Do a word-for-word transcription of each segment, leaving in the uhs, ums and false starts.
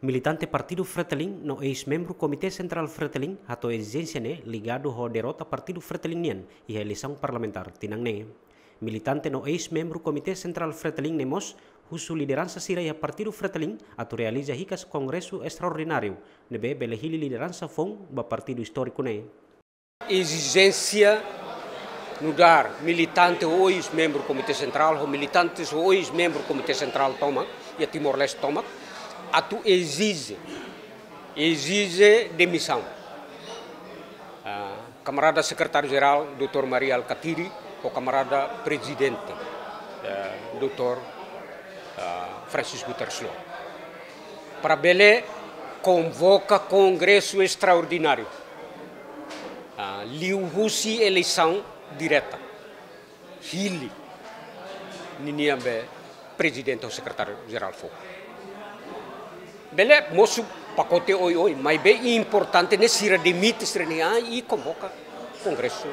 Militante Partidu Fretilin no eis-membru Komité Sentrál Fretilin hato'o ezijénsia ne'e ligadu ho derrota Partidu Fretilin nian iha eleisaun parlamentár tinan ne'e. Militante no eis-membru Komité Sentrál Fretilin ne'e mós husu lideransa sira iha Partidu Fretilin atu realiza hikas kongresu estraordináriu ne'ebé bele hili lideransa foun ba partidu istóriku ne'e. Ezijénsia nu'udar militante ho eis-membru Komité Sentrál, ho militante ho eis-membru Komité Sentrál tomak, iha Timor-Leste tomak, atu ezije, ezije demisaun. Ah, kamarada Sekretáriu Jerál, doutór Mari Alkatiri, ho kamarada Prezidente, eh, doutór, ah, Francisco Guterres Lú. Para bele konvoka kongresu estraordináriu. Ah, liuhusi eleisaun direta. Hili ninian be prezidente ho sekretáriu jerál foun. Bele mosu pakote oioin, maibé importante ne'e sira demite sira-nia an i konvoka kongresu,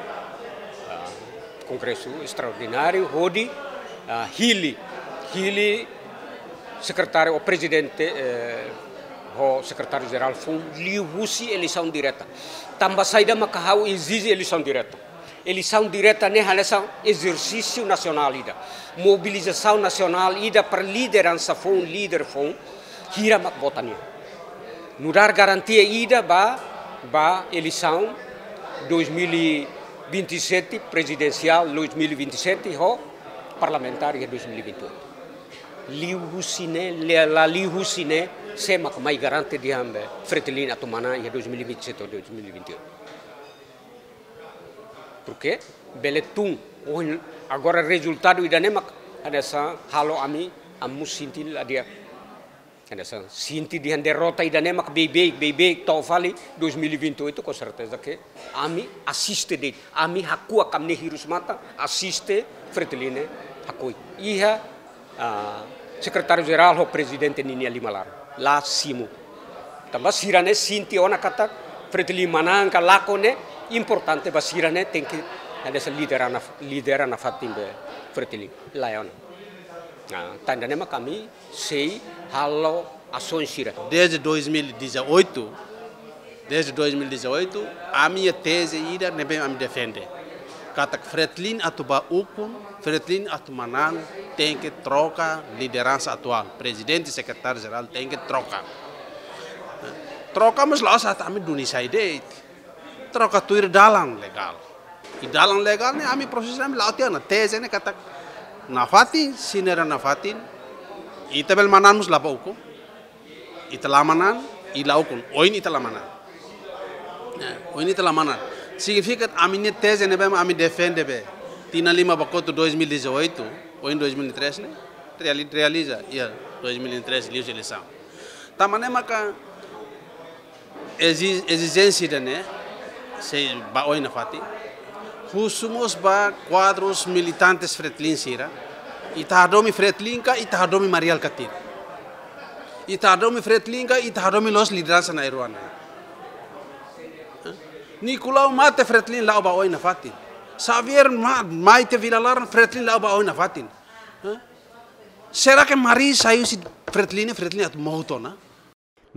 ah, kongresu estraordináriu hodi, ah, hili, hili sekretáriu ou prezidente, eh, ho sekretáriu jerál foun liuhusi eleisaun direta. Tanba saida maka ha'u ezije eleisaun direta? Eleisaun direta ne'e hanesan ezersísiu nasionál ida, mobilizasaun nasionál ida para lideransa foun, líder foun, hira mak vota nia. Nu'udar garantia ida ba, ba eleisaun dois mil e vinte e sete, prezidensiál dois mil e vinte e sete, ho parlamentár iha dois mil e vinte e oito. Liuhusi ne'e, le-, la liuhusi ne'e, sé mak mai garante dehan be Fretilin atu manán iha dois mil e vinte e sete ou dois mil e vinte e oito? Porke bele tun, oh, agora rezultadu ida-ne'e mak hanesan halo ami, ami mós sente la di'ak. Hanesan sente dehan derrota ida-ne'e mak beibeik, beibeik to'o fali dois mil e vinte e oito, com certeza que ami asiste de'it, ami hakuak ami-nia hirus-matan, asiste Fretilin ne'e hakoi. Iha, ah, sekretáriu jerál ho prezidente ninia liman laran. La simu. Tanba sira-ne'e sente ona katak Fretilin manán ka lakon ne'e importante ba sira-ne'e tenke hanesan lidera na, lidera nafatin be Fretilin. Lae ona. Ah, tan ida-ne'e mak ami sei halo asaun sira. Desde dois mil e dezoito, desde dois mil e dezoito, ami-nia teze ida ne'ebé ami defende. Katak Fretilin atu bá ukun, Fretilin atu manán, tenke troka lideransa atuál. Prezidente, sekretáriu jerál tenke troka. Troka mós la'ós atu ami duni sai de'it. Troka tuir dalan legál. I dalan legál ne'e ami prosesu ami la'o tiha ona, teze ne'e katak nafatin, sira-ne'e nafatin, ita bele manán mós la bá ukun, ita la manán, i la ukun, ohin ita la manán. Ya, ohin ita la manán. Signifika ami-nia teze ne'ebé ami defende be tinan lima ba kotuk dois mil e dezoito, ohin dois mil e três ne'e, reali-, realiza, iha dois mil e três liu eleisaun. Tanba ne'e maka ezi-, ezijénsia ida-ne'e sei bá oin nafatin. Husu mós ba kuadrus militantes Fretilin sira. Ita hadomi Fretilin ka, ita hadomi Mari Alkatiri? Ita hadomi Fretilin ka, ita hadomi loos lideransa na'in-rua ne'e? Nicolau mate, Fretilin la'o bá oin nafatin. Xavier ma-, mai tiha Vila Laran, Fretilin la'o bá oin nafatin. Será que Mari sai husi Fretilin, Fretilin atu mout ona?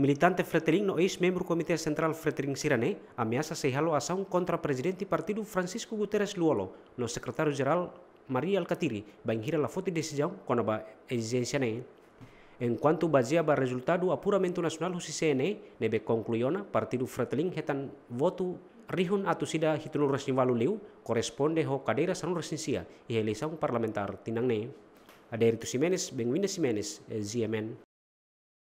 Militante Fretilin no eis-membru Komité Sentrál Fretilin sira-ne'e ameasa sei halo asaun kontra Prezidente Partidu Francisco Guterres Lú-Olo no Sekretáriu Jerál Mari Alkatiri bainhira la foti desizaun kona-ba ezijénsia ne'e. Enkuantu bazeia ba rezultadu apuramentu nasionál husi C N E ne'ebé konklui ona Partidu Fretilin hetan votu rihun atus ida hitunulu resin ualu liu, korresponde ho kadeira sanulu resin sia iha eleisaun parlamentár tinan ne'e. Adérito Ximenes, Benguinda Ximenes, eh, G M N.